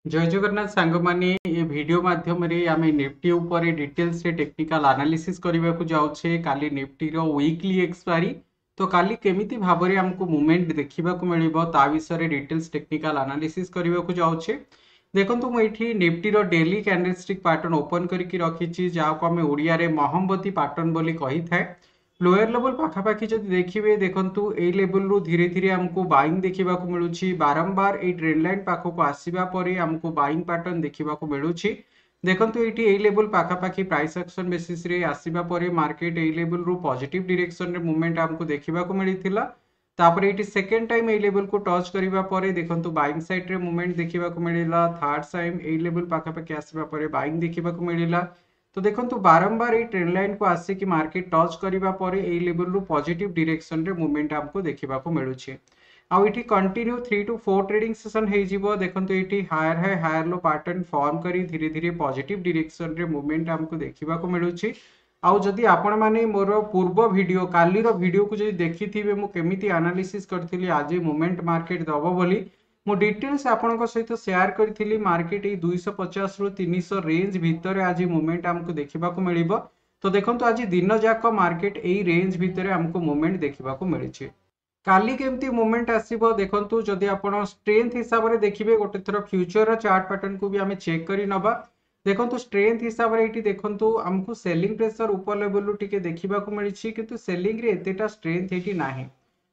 ଜୟ ଜଗନ୍ନାଥ ସାଙ୍ଗମାନେ, ଏ ଭିଡ଼ିଓ ମାଧ୍ୟମରେ ଆମେ ନିଫ୍ଟି ଉପରେ ଡିଟେଲ୍ସରେ ଟେକ୍ନିକାଲ ଆନାଲିସିସ୍ କରିବାକୁ ଯାଉଛେ। କାଲି ନିଫ୍ଟିର ୱିକଲି ଏକ୍ସପାୟରି, ତ କାଲି କେମିତି ଭାବରେ ଆମକୁ ମୁଭମେଣ୍ଟ ଦେଖିବାକୁ ମିଳିବ, ତା ବିଷୟରେ ଡିଟେଲ୍ସ ଟେକ୍ନିକାଲ ଆନାଲିସିସ୍ କରିବାକୁ ଯାଉଛେ। ଦେଖନ୍ତୁ, ମୁଁ ଏଇଠି ନିଫ୍ଟିର ଡେଲି କ୍ୟାଣ୍ଡେଲଷ୍ଟିକ୍ ପାଟର୍ନ ଓପନ୍ କରିକି ରଖିଛି, ଯାହାକୁ ଆମେ ଓଡ଼ିଆରେ ମହମବତୀ ପାଟର୍ନ ବୋଲି କହିଥାଏ। ଲୋୟର ଲେଭେଲ ପାଖାପାଖି ଯଦି ଦେଖିବେ, ଦେଖନ୍ତୁ, ଏଇ ଲେଭେଲରୁ ଧୀରେ ଧୀରେ ଆମକୁ ବାଇଂ ଦେଖିବାକୁ ମିଳୁଛି। ବାରମ୍ବାର ଏଇ ଟ୍ରେଣ୍ଡ ଲାଇନ୍ ପାଖକୁ ଆସିବା ପରେ ଆମକୁ ବାଇଂ ପାଟର୍ନ ଦେଖିବାକୁ ମିଳୁଛି। ଦେଖନ୍ତୁ, ଏଇଠି ଏଇ ଲେଭେଲ ପାଖାପାଖି ପ୍ରାଇସ୍ ଆକ୍ସନ ବେସିସରେ ଆସିବା ପରେ ମାର୍କେଟ ଏଇ ଲେଭେଲରୁ ପଜିଟିଭ ଡିରେକ୍ସନରେ ମୁଭମେଣ୍ଟ ଆମକୁ ଦେଖିବାକୁ ମିଳିଥିଲା। ତାପରେ ଏଇଠି ସେକେଣ୍ଡ ଟାଇମ୍ ଏଇ ଲେଭେଲକୁ ଟଚ୍ କରିବା ପରେ ଦେଖନ୍ତୁ, ବାଇଂ ସାଇଡ୍ରେ ମୁଭମେଣ୍ଟ ଦେଖିବାକୁ ମିଳିଲା। ଥାର୍ଡ ଟାଇମ୍ ଏଇ ଲେଭେଲ ପାଖାପାଖି ଆସିବା ପରେ ବାଇଂ ଦେଖିବାକୁ ମିଳିଲା। ତ ଦେଖନ୍ତୁ, ବାରମ୍ବାର ଏଇ ଟ୍ରେଣ୍ଡ ଲାଇନକୁ ଆସିକି ମାର୍କେଟ ଟଚ୍ କରିବା ପରେ ଏଇ ଲେଭେଲରୁ ପଜିଟିଭ ଡିରେକ୍ସନରେ ମୁଭମେଣ୍ଟ ଆମକୁ ଦେଖିବାକୁ ମିଳୁଛି। ଆଉ ଏଠି କଣ୍ଟିନ୍ୟୁ 3 ଟୁ 4 ଟ୍ରେଡିଂ ସେସନ୍ ହେଇଯିବ। ଦେଖନ୍ତୁ, ଏଇଠି higher high, higher ଲୋ ପାଟର୍ନ ଫର୍ମ କରି ଧୀରେ ଧୀରେ ପଜିଟିଭ ଡିରେକ୍ସନରେ ମୁଭମେଣ୍ଟ ଆମକୁ ଦେଖିବାକୁ ମିଳୁଛି। ଆଉ ଯଦି ଆପଣମାନେ ମୋର ପୂର୍ବ ଭିଡ଼ିଓ, କାଲିର ଭିଡ଼ିଓକୁ ଯଦି ଦେଖିଥିବେ, ମୁଁ କେମିତି ଆନାଲିସିସ୍ କରିଥିଲି ଆଜି ମୁଭମେଣ୍ଟ ମାର୍କେଟ ଦବ ବୋଲି, ମୁଁ ଡିଟେଲ୍ସ ଆପଣଙ୍କ ସହିତ ସେୟାର କରିଥିଲି। ମାର୍କେଟ ଏଇ 250ରୁ 300 ରେଞ୍ଜ ଭିତରେ ଆଜି ମୁଭମେଣ୍ଟ ଆମକୁ ଦେଖିବାକୁ ମିଳିବ। ତ ଦେଖନ୍ତୁ, ଆଜି ଦିନ ଯାକ ମାର୍କେଟ ଏଇ ରେଞ୍ଜ ଭିତରେ ଆମକୁ ମୁଭମେଣ୍ଟ ଦେଖିବାକୁ ମିଳିଛି। କାଲି କେମିତି ମୁଭମେଣ୍ଟ ଆସିବ? ଦେଖନ୍ତୁ, ଯଦି ଆପଣ ଷ୍ଟ୍ରେନ୍ଥ ହିସାବରେ ଦେଖିବେ, ଗୋଟେ ଥର ଫ୍ୟୁଚରର ଚାର୍ଟ ପାଟର୍ନକୁ ବି ଆମେ ଚେକ୍ କରି ନେବା। ଦେଖନ୍ତୁ, ଷ୍ଟ୍ରେନ୍ଥ ହିସାବରେ ଏଇଠି ଦେଖନ୍ତୁ, ଆମକୁ ସେଲିଂ ପ୍ରେସର ଉପର ଲେଭେଲରୁ ଟିକେ ଦେଖିବାକୁ ମିଳିଛି, କିନ୍ତୁ ସେଲିଂରେ ଏତେଟା ଷ୍ଟ୍ରେନ୍ଥ ଏଇଠି ନାହିଁ।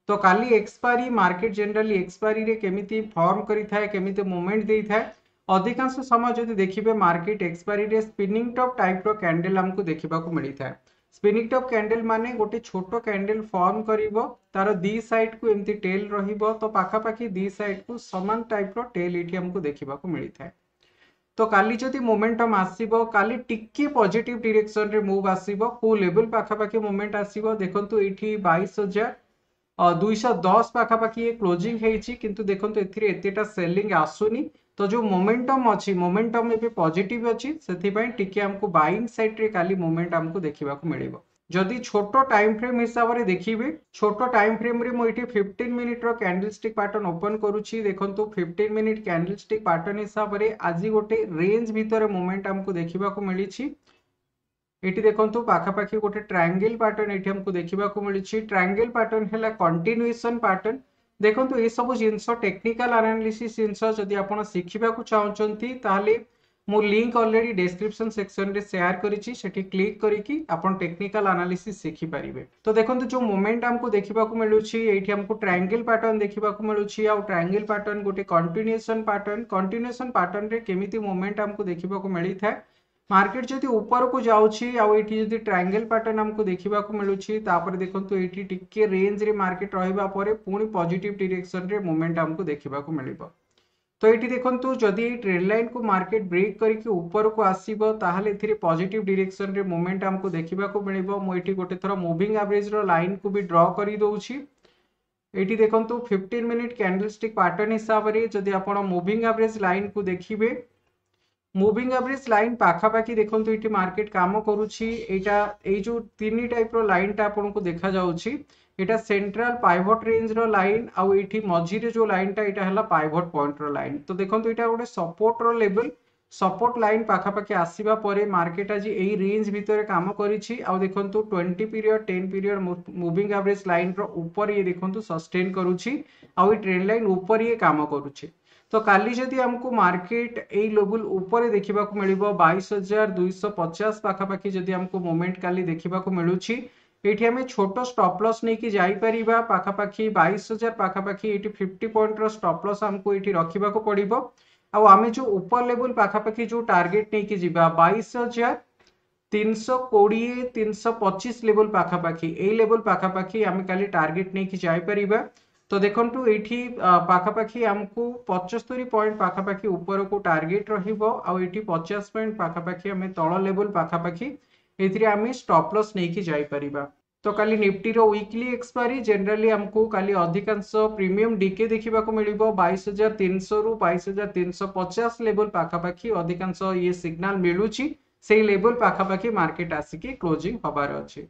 ତ କାଲି ଏକ୍ସପାୟରି, ମାର୍କେଟ ଜେନେରାଲି ଏକ୍ସପାୟରିରେ କେମିତି ଫର୍ମ କରିଥାଏ, କେମିତି ମୁଭମେଣ୍ଟ ଦେଇଥାଏ? ଅଧିକାଂଶ ସମୟ ଯଦି ଦେଖିବେ, ମାର୍କେଟ ଏକ୍ସପାୟରିରେ ସ୍ପିନିଂ ଟପ୍ ଟାଇପ୍ର କ୍ୟାଣ୍ଡେଲ ଆମକୁ ଦେଖିବାକୁ ମିଳିଥାଏ। ସ୍ପିନିଂ ଟପ୍ କ୍ୟାଣ୍ଡେଲ ମାନେ ଗୋଟେ ଛୋଟ କ୍ୟାଣ୍ଡେଲ ଫର୍ମ କରିବ, ତାର ଦି ସାଇଡ୍କୁ ଏମିତି ଟେଲ୍ ରହିବ। ତ ପାଖାପାଖି ଦି ସାଇଡ୍କୁ ସମାନ ଟାଇପ୍ର ଟେଲ୍ ଏଇଠି ଆମକୁ ଦେଖିବାକୁ ମିଳିଥାଏ। ତ କାଲି ଯଦି ମୋମେଣ୍ଟମ୍ ଆସିବ, କାଲି ଟିକେ ପଜିଟିଭ ଡିରେକ୍ସନରେ ମୁଭ୍ ଆସିବ। କୋଉ ଲେଭେଲ ପାଖାପାଖି ମୁଭମେଣ୍ଟ ଆସିବ? ଦେଖନ୍ତୁ, ଏଇଠି 22,210 ପାଖାପାଖି ଇଏ କ୍ଲୋଜିଂ ହେଇଛି, କିନ୍ତୁ ଦେଖନ୍ତୁ, ଏଥିରେ ଏତେଟା ସେଲିଂ ଆସୁନି। ତ ଯୋଉ ମୋମେଣ୍ଟମ୍ ଅଛି, ମୋମେଣ୍ଟମ୍ ଏବେ ପଜିଟିଭ ଅଛି, ସେଥିପାଇଁ ଟିକେ ଆମକୁ ବାଇଂ ସାଇଡ୍ରେ କାଲି ମୁଭମେଣ୍ଟ ଆମକୁ ଦେଖିବାକୁ ମିଳିବ। ଯଦି ଛୋଟ ଟାଇମ୍ ଫ୍ରେମ୍ ହିସାବରେ ଦେଖିବେ, ଛୋଟ ଟାଇମ୍ ଫ୍ରେମ୍ରେ ମୁଁ ଏଇଠି 15 ମିନିଟ୍ର କ୍ୟାଣ୍ଡେଲ ଷ୍ଟିକ୍ ପାଟର୍ନ ଓପନ୍ କରୁଛି। ଦେଖନ୍ତୁ, 15 ମିନିଟ୍ କ୍ୟାଣ୍ଡେଲ ଷ୍ଟିକ୍ ପାଟର୍ନ ହିସାବରେ ଆଜି ଗୋଟେ ରେଞ୍ଜ ଭିତରେ ମୁଭମେଣ୍ଟ ଆମକୁ ଦେଖିବାକୁ ମିଳିଛି। ଏଠି ଦେଖନ୍ତୁ, ପାଖାପାଖି ଗୋଟେ ଟ୍ରାଙ୍ଗେଲ ପାଟର୍ନ ଏଠି ଆମକୁ ଦେଖିବାକୁ ମିଳୁଛି। ଟ୍ରାଙ୍ଗେଲ ପାଟର୍ନ ହେଲା କଣ୍ଟିନ୍ୟୁଏସନ ପାଟର୍ନ। ଦେଖନ୍ତୁ, ଏସବୁ ଜିନିଷ ଟେକ୍ନିକାଲ ଆନାଲିସିସ୍ ଜିନିଷ ଯଦି ଆପଣ ଶିଖିବାକୁ ଚାହୁଁଛନ୍ତି, ତାହେଲେ ମୁଁ ଲିଙ୍କ ଅଲରେଡି ଡେସ୍କ୍ରିପସନ ସେକ୍ସନରେ ସେୟାର କରିଛି। ସେଠି କ୍ଲିକ୍ କରିକି ଆପଣ ଟେକ୍ନିକାଲ ଆନାଲିସିସ୍ ଶିଖିପାରିବେ। ତ ଦେଖନ୍ତୁ, ଯୋଉ ମୁଭମେଣ୍ଟ ଆମକୁ ଦେଖିବାକୁ ମିଳୁଛି, ଏଇଠି ଆମକୁ ଟ୍ରାଙ୍ଗେଲ ପାଟର୍ନ ଦେଖିବାକୁ ମିଳୁଛି। ଆଉ ଟ୍ରାଙ୍ଗେଲ ପାଟର୍ନ ଗୋଟେ କଣ୍ଟିନ୍ୟୁଏସନ ପାଟର୍ନ। କଣ୍ଟିନ୍ୟୁଏସନ ପାଟର୍ନରେ କେମିତି ମୁଭମେଣ୍ଟ ଆମକୁ ଦେଖିବାକୁ ମିଳିଥାଏ? ମାର୍କେଟ ଯଦି ଉପରକୁ ଯାଉଛି ଆଉ ଏଇଠି ଯଦି ଟ୍ରାଙ୍ଗେଲ ପାଟର୍ନ ଆମକୁ ଦେଖିବାକୁ ମିଳୁଛି, ତାପରେ ଦେଖନ୍ତୁ, ଏଇଠି ଟିକେ ରେଞ୍ଜରେ ମାର୍କେଟ ରହିବା ପରେ ପୁଣି ପଜିଟିଭ ଡିରେକ୍ସନରେ ମୁଭମେଣ୍ଟ ଆମକୁ ଦେଖିବାକୁ ମିଳିବ। ତ ଏଇଠି ଦେଖନ୍ତୁ, ଯଦି ଏଇ ଟ୍ରେଣ୍ଡ ଲାଇନକୁ ମାର୍କେଟ ବ୍ରେକ୍ କରିକି ଉପରକୁ ଆସିବ, ତାହେଲେ ଏଥିରେ ପଜିଟିଭ ଡିରେକ୍ସନରେ ମୁଭମେଣ୍ଟ ଆମକୁ ଦେଖିବାକୁ ମିଳିବ। ମୁଁ ଏଇଠି ଗୋଟେ ଥର ମୁଭିଂ ଆଭରେଜର ଲାଇନକୁ ବି ଡ୍ର କରିଦେଉଛି। ଏଇଠି ଦେଖନ୍ତୁ, 15 ମିନିଟ୍ କ୍ୟାଣ୍ଡେଲ ଷ୍ଟିକ୍ ପାଟର୍ନ ହିସାବରେ ଯଦି ଆପଣ ମୁଭିଂ ଆଭରେଜ ଲାଇନକୁ ଦେଖିବେ, ମୁଭିଂ ଆଭରେଜ ଲାଇନ୍ ପାଖାପାଖି ଦେଖନ୍ତୁ, ଏଇଠି ମାର୍କେଟ କାମ କରୁଛି। ଏଇଟା ଏଇ ଯୋଉ ତିନି ଟାଇପ୍ର ଲାଇନଟା ଆପଣଙ୍କୁ ଦେଖାଯାଉଛି, ଏଇଟା ସେଣ୍ଟ୍ରାଲ ପାଇଭଟ ରେଞ୍ଜର ଲାଇନ୍। ଆଉ ଏଇଠି ମଝିରେ ଯୋଉ ଲାଇନଟା, ଏଇଟା ହେଲା ପାଇଭଟ ପଏଣ୍ଟର ଲାଇନ୍। ତ ଦେଖନ୍ତୁ, ଏଇଟା ଗୋଟେ ସପୋର୍ଟର ଲେଭେଲ। ସପୋର୍ଟ ଲାଇନ୍ ପାଖାପାଖି ଆସିବା ପରେ ମାର୍କେଟ ଆଜି ଏଇ ରେଞ୍ଜ ଭିତରେ କାମ କରିଛି। ଆଉ ଦେଖନ୍ତୁ, 20 ପିରିୟଡ଼, 10 ପିରିୟଡ଼ ମୁଭିଂ ଆଭରେଜ ଲାଇନର ଉପରେ ଇଏ ଦେଖନ୍ତୁ ସଷ୍ଟେନ୍ କରୁଛି ଆଉ ଏଇ ଟ୍ରେଣ୍ଡ ଲାଇନ୍ ଉପରେ ଇଏ କାମ କରୁଛି। ତ କାଲି ଯଦି ଆମକୁ ମାର୍କେଟ ଏଇ ଲେଭେଲ ଉପରେ ଦେଖିବାକୁ ମିଳିବ, 22,250 ପାଖାପାଖି ଯଦି ଆମକୁ ମୁଭମେଣ୍ଟ କାଲି ଦେଖିବାକୁ ମିଳୁଛି, ଏଇଠି ଆମେ ଛୋଟ ଷ୍ଟପ୍ ଲସ୍ ନେଇକି ଯାଇପାରିବା। ପାଖାପାଖି 22,000 ପାଖାପାଖି ଏଇଠି 50 ପଏଣ୍ଟର ଷ୍ଟପ୍ ଲସ୍ ଆମକୁ ଏଇଠି ରଖିବାକୁ ପଡ଼ିବ। ଆଉ ଆମେ ଯୋଉ ଉପର ଲେଭେଲ ପାଖାପାଖି ଯୋଉ ଟାର୍ଗେଟ ନେଇକି ଯିବା, 22,320, 325 ଲେଭେଲ ପାଖାପାଖି, ଏଇ ଲେଭେଲ ପାଖାପାଖି ଆମେ କାଲି ଟାର୍ଗେଟ ନେଇକି ଯାଇପାରିବା। ତ ଦେଖନ୍ତୁ, ଏଇଠି ପାଖାପାଖି ଆମକୁ 75 ପଏଣ୍ଟ ପାଖାପାଖି ଉପରକୁ ଟାର୍ଗେଟ ରହିବ ଆଉ ଏଇଠି 50 ପଏଣ୍ଟ ପାଖାପାଖି ଆମେ ତଳ ଲେଭେଲ ପାଖାପାଖି ଏଥିରେ ଆମେ ଷ୍ଟପ୍ ଲସ୍ ନେଇକି ଯାଇପାରିବା। ତ କାଲି ନିଫ୍ଟିର ୱିକଲି ଏକ୍ସପାୟରି, ଜେନେରାଲି ଆମକୁ କାଲି ଅଧିକାଂଶ ପ୍ରିମିୟମ ଡିକେ ଦେଖିବାକୁ ମିଳିବ। 22,300ରୁ 22,350 ଲେଭେଲ ପାଖାପାଖି ଅଧିକାଂଶ ଇଏ ସିଗ୍ନାଲ ମିଳୁଛି। ସେଇ ଲେଭେଲ ପାଖାପାଖି ମାର୍କେଟ ଆସିକି କ୍ଲୋଜିଂ ହବାର ଅଛି।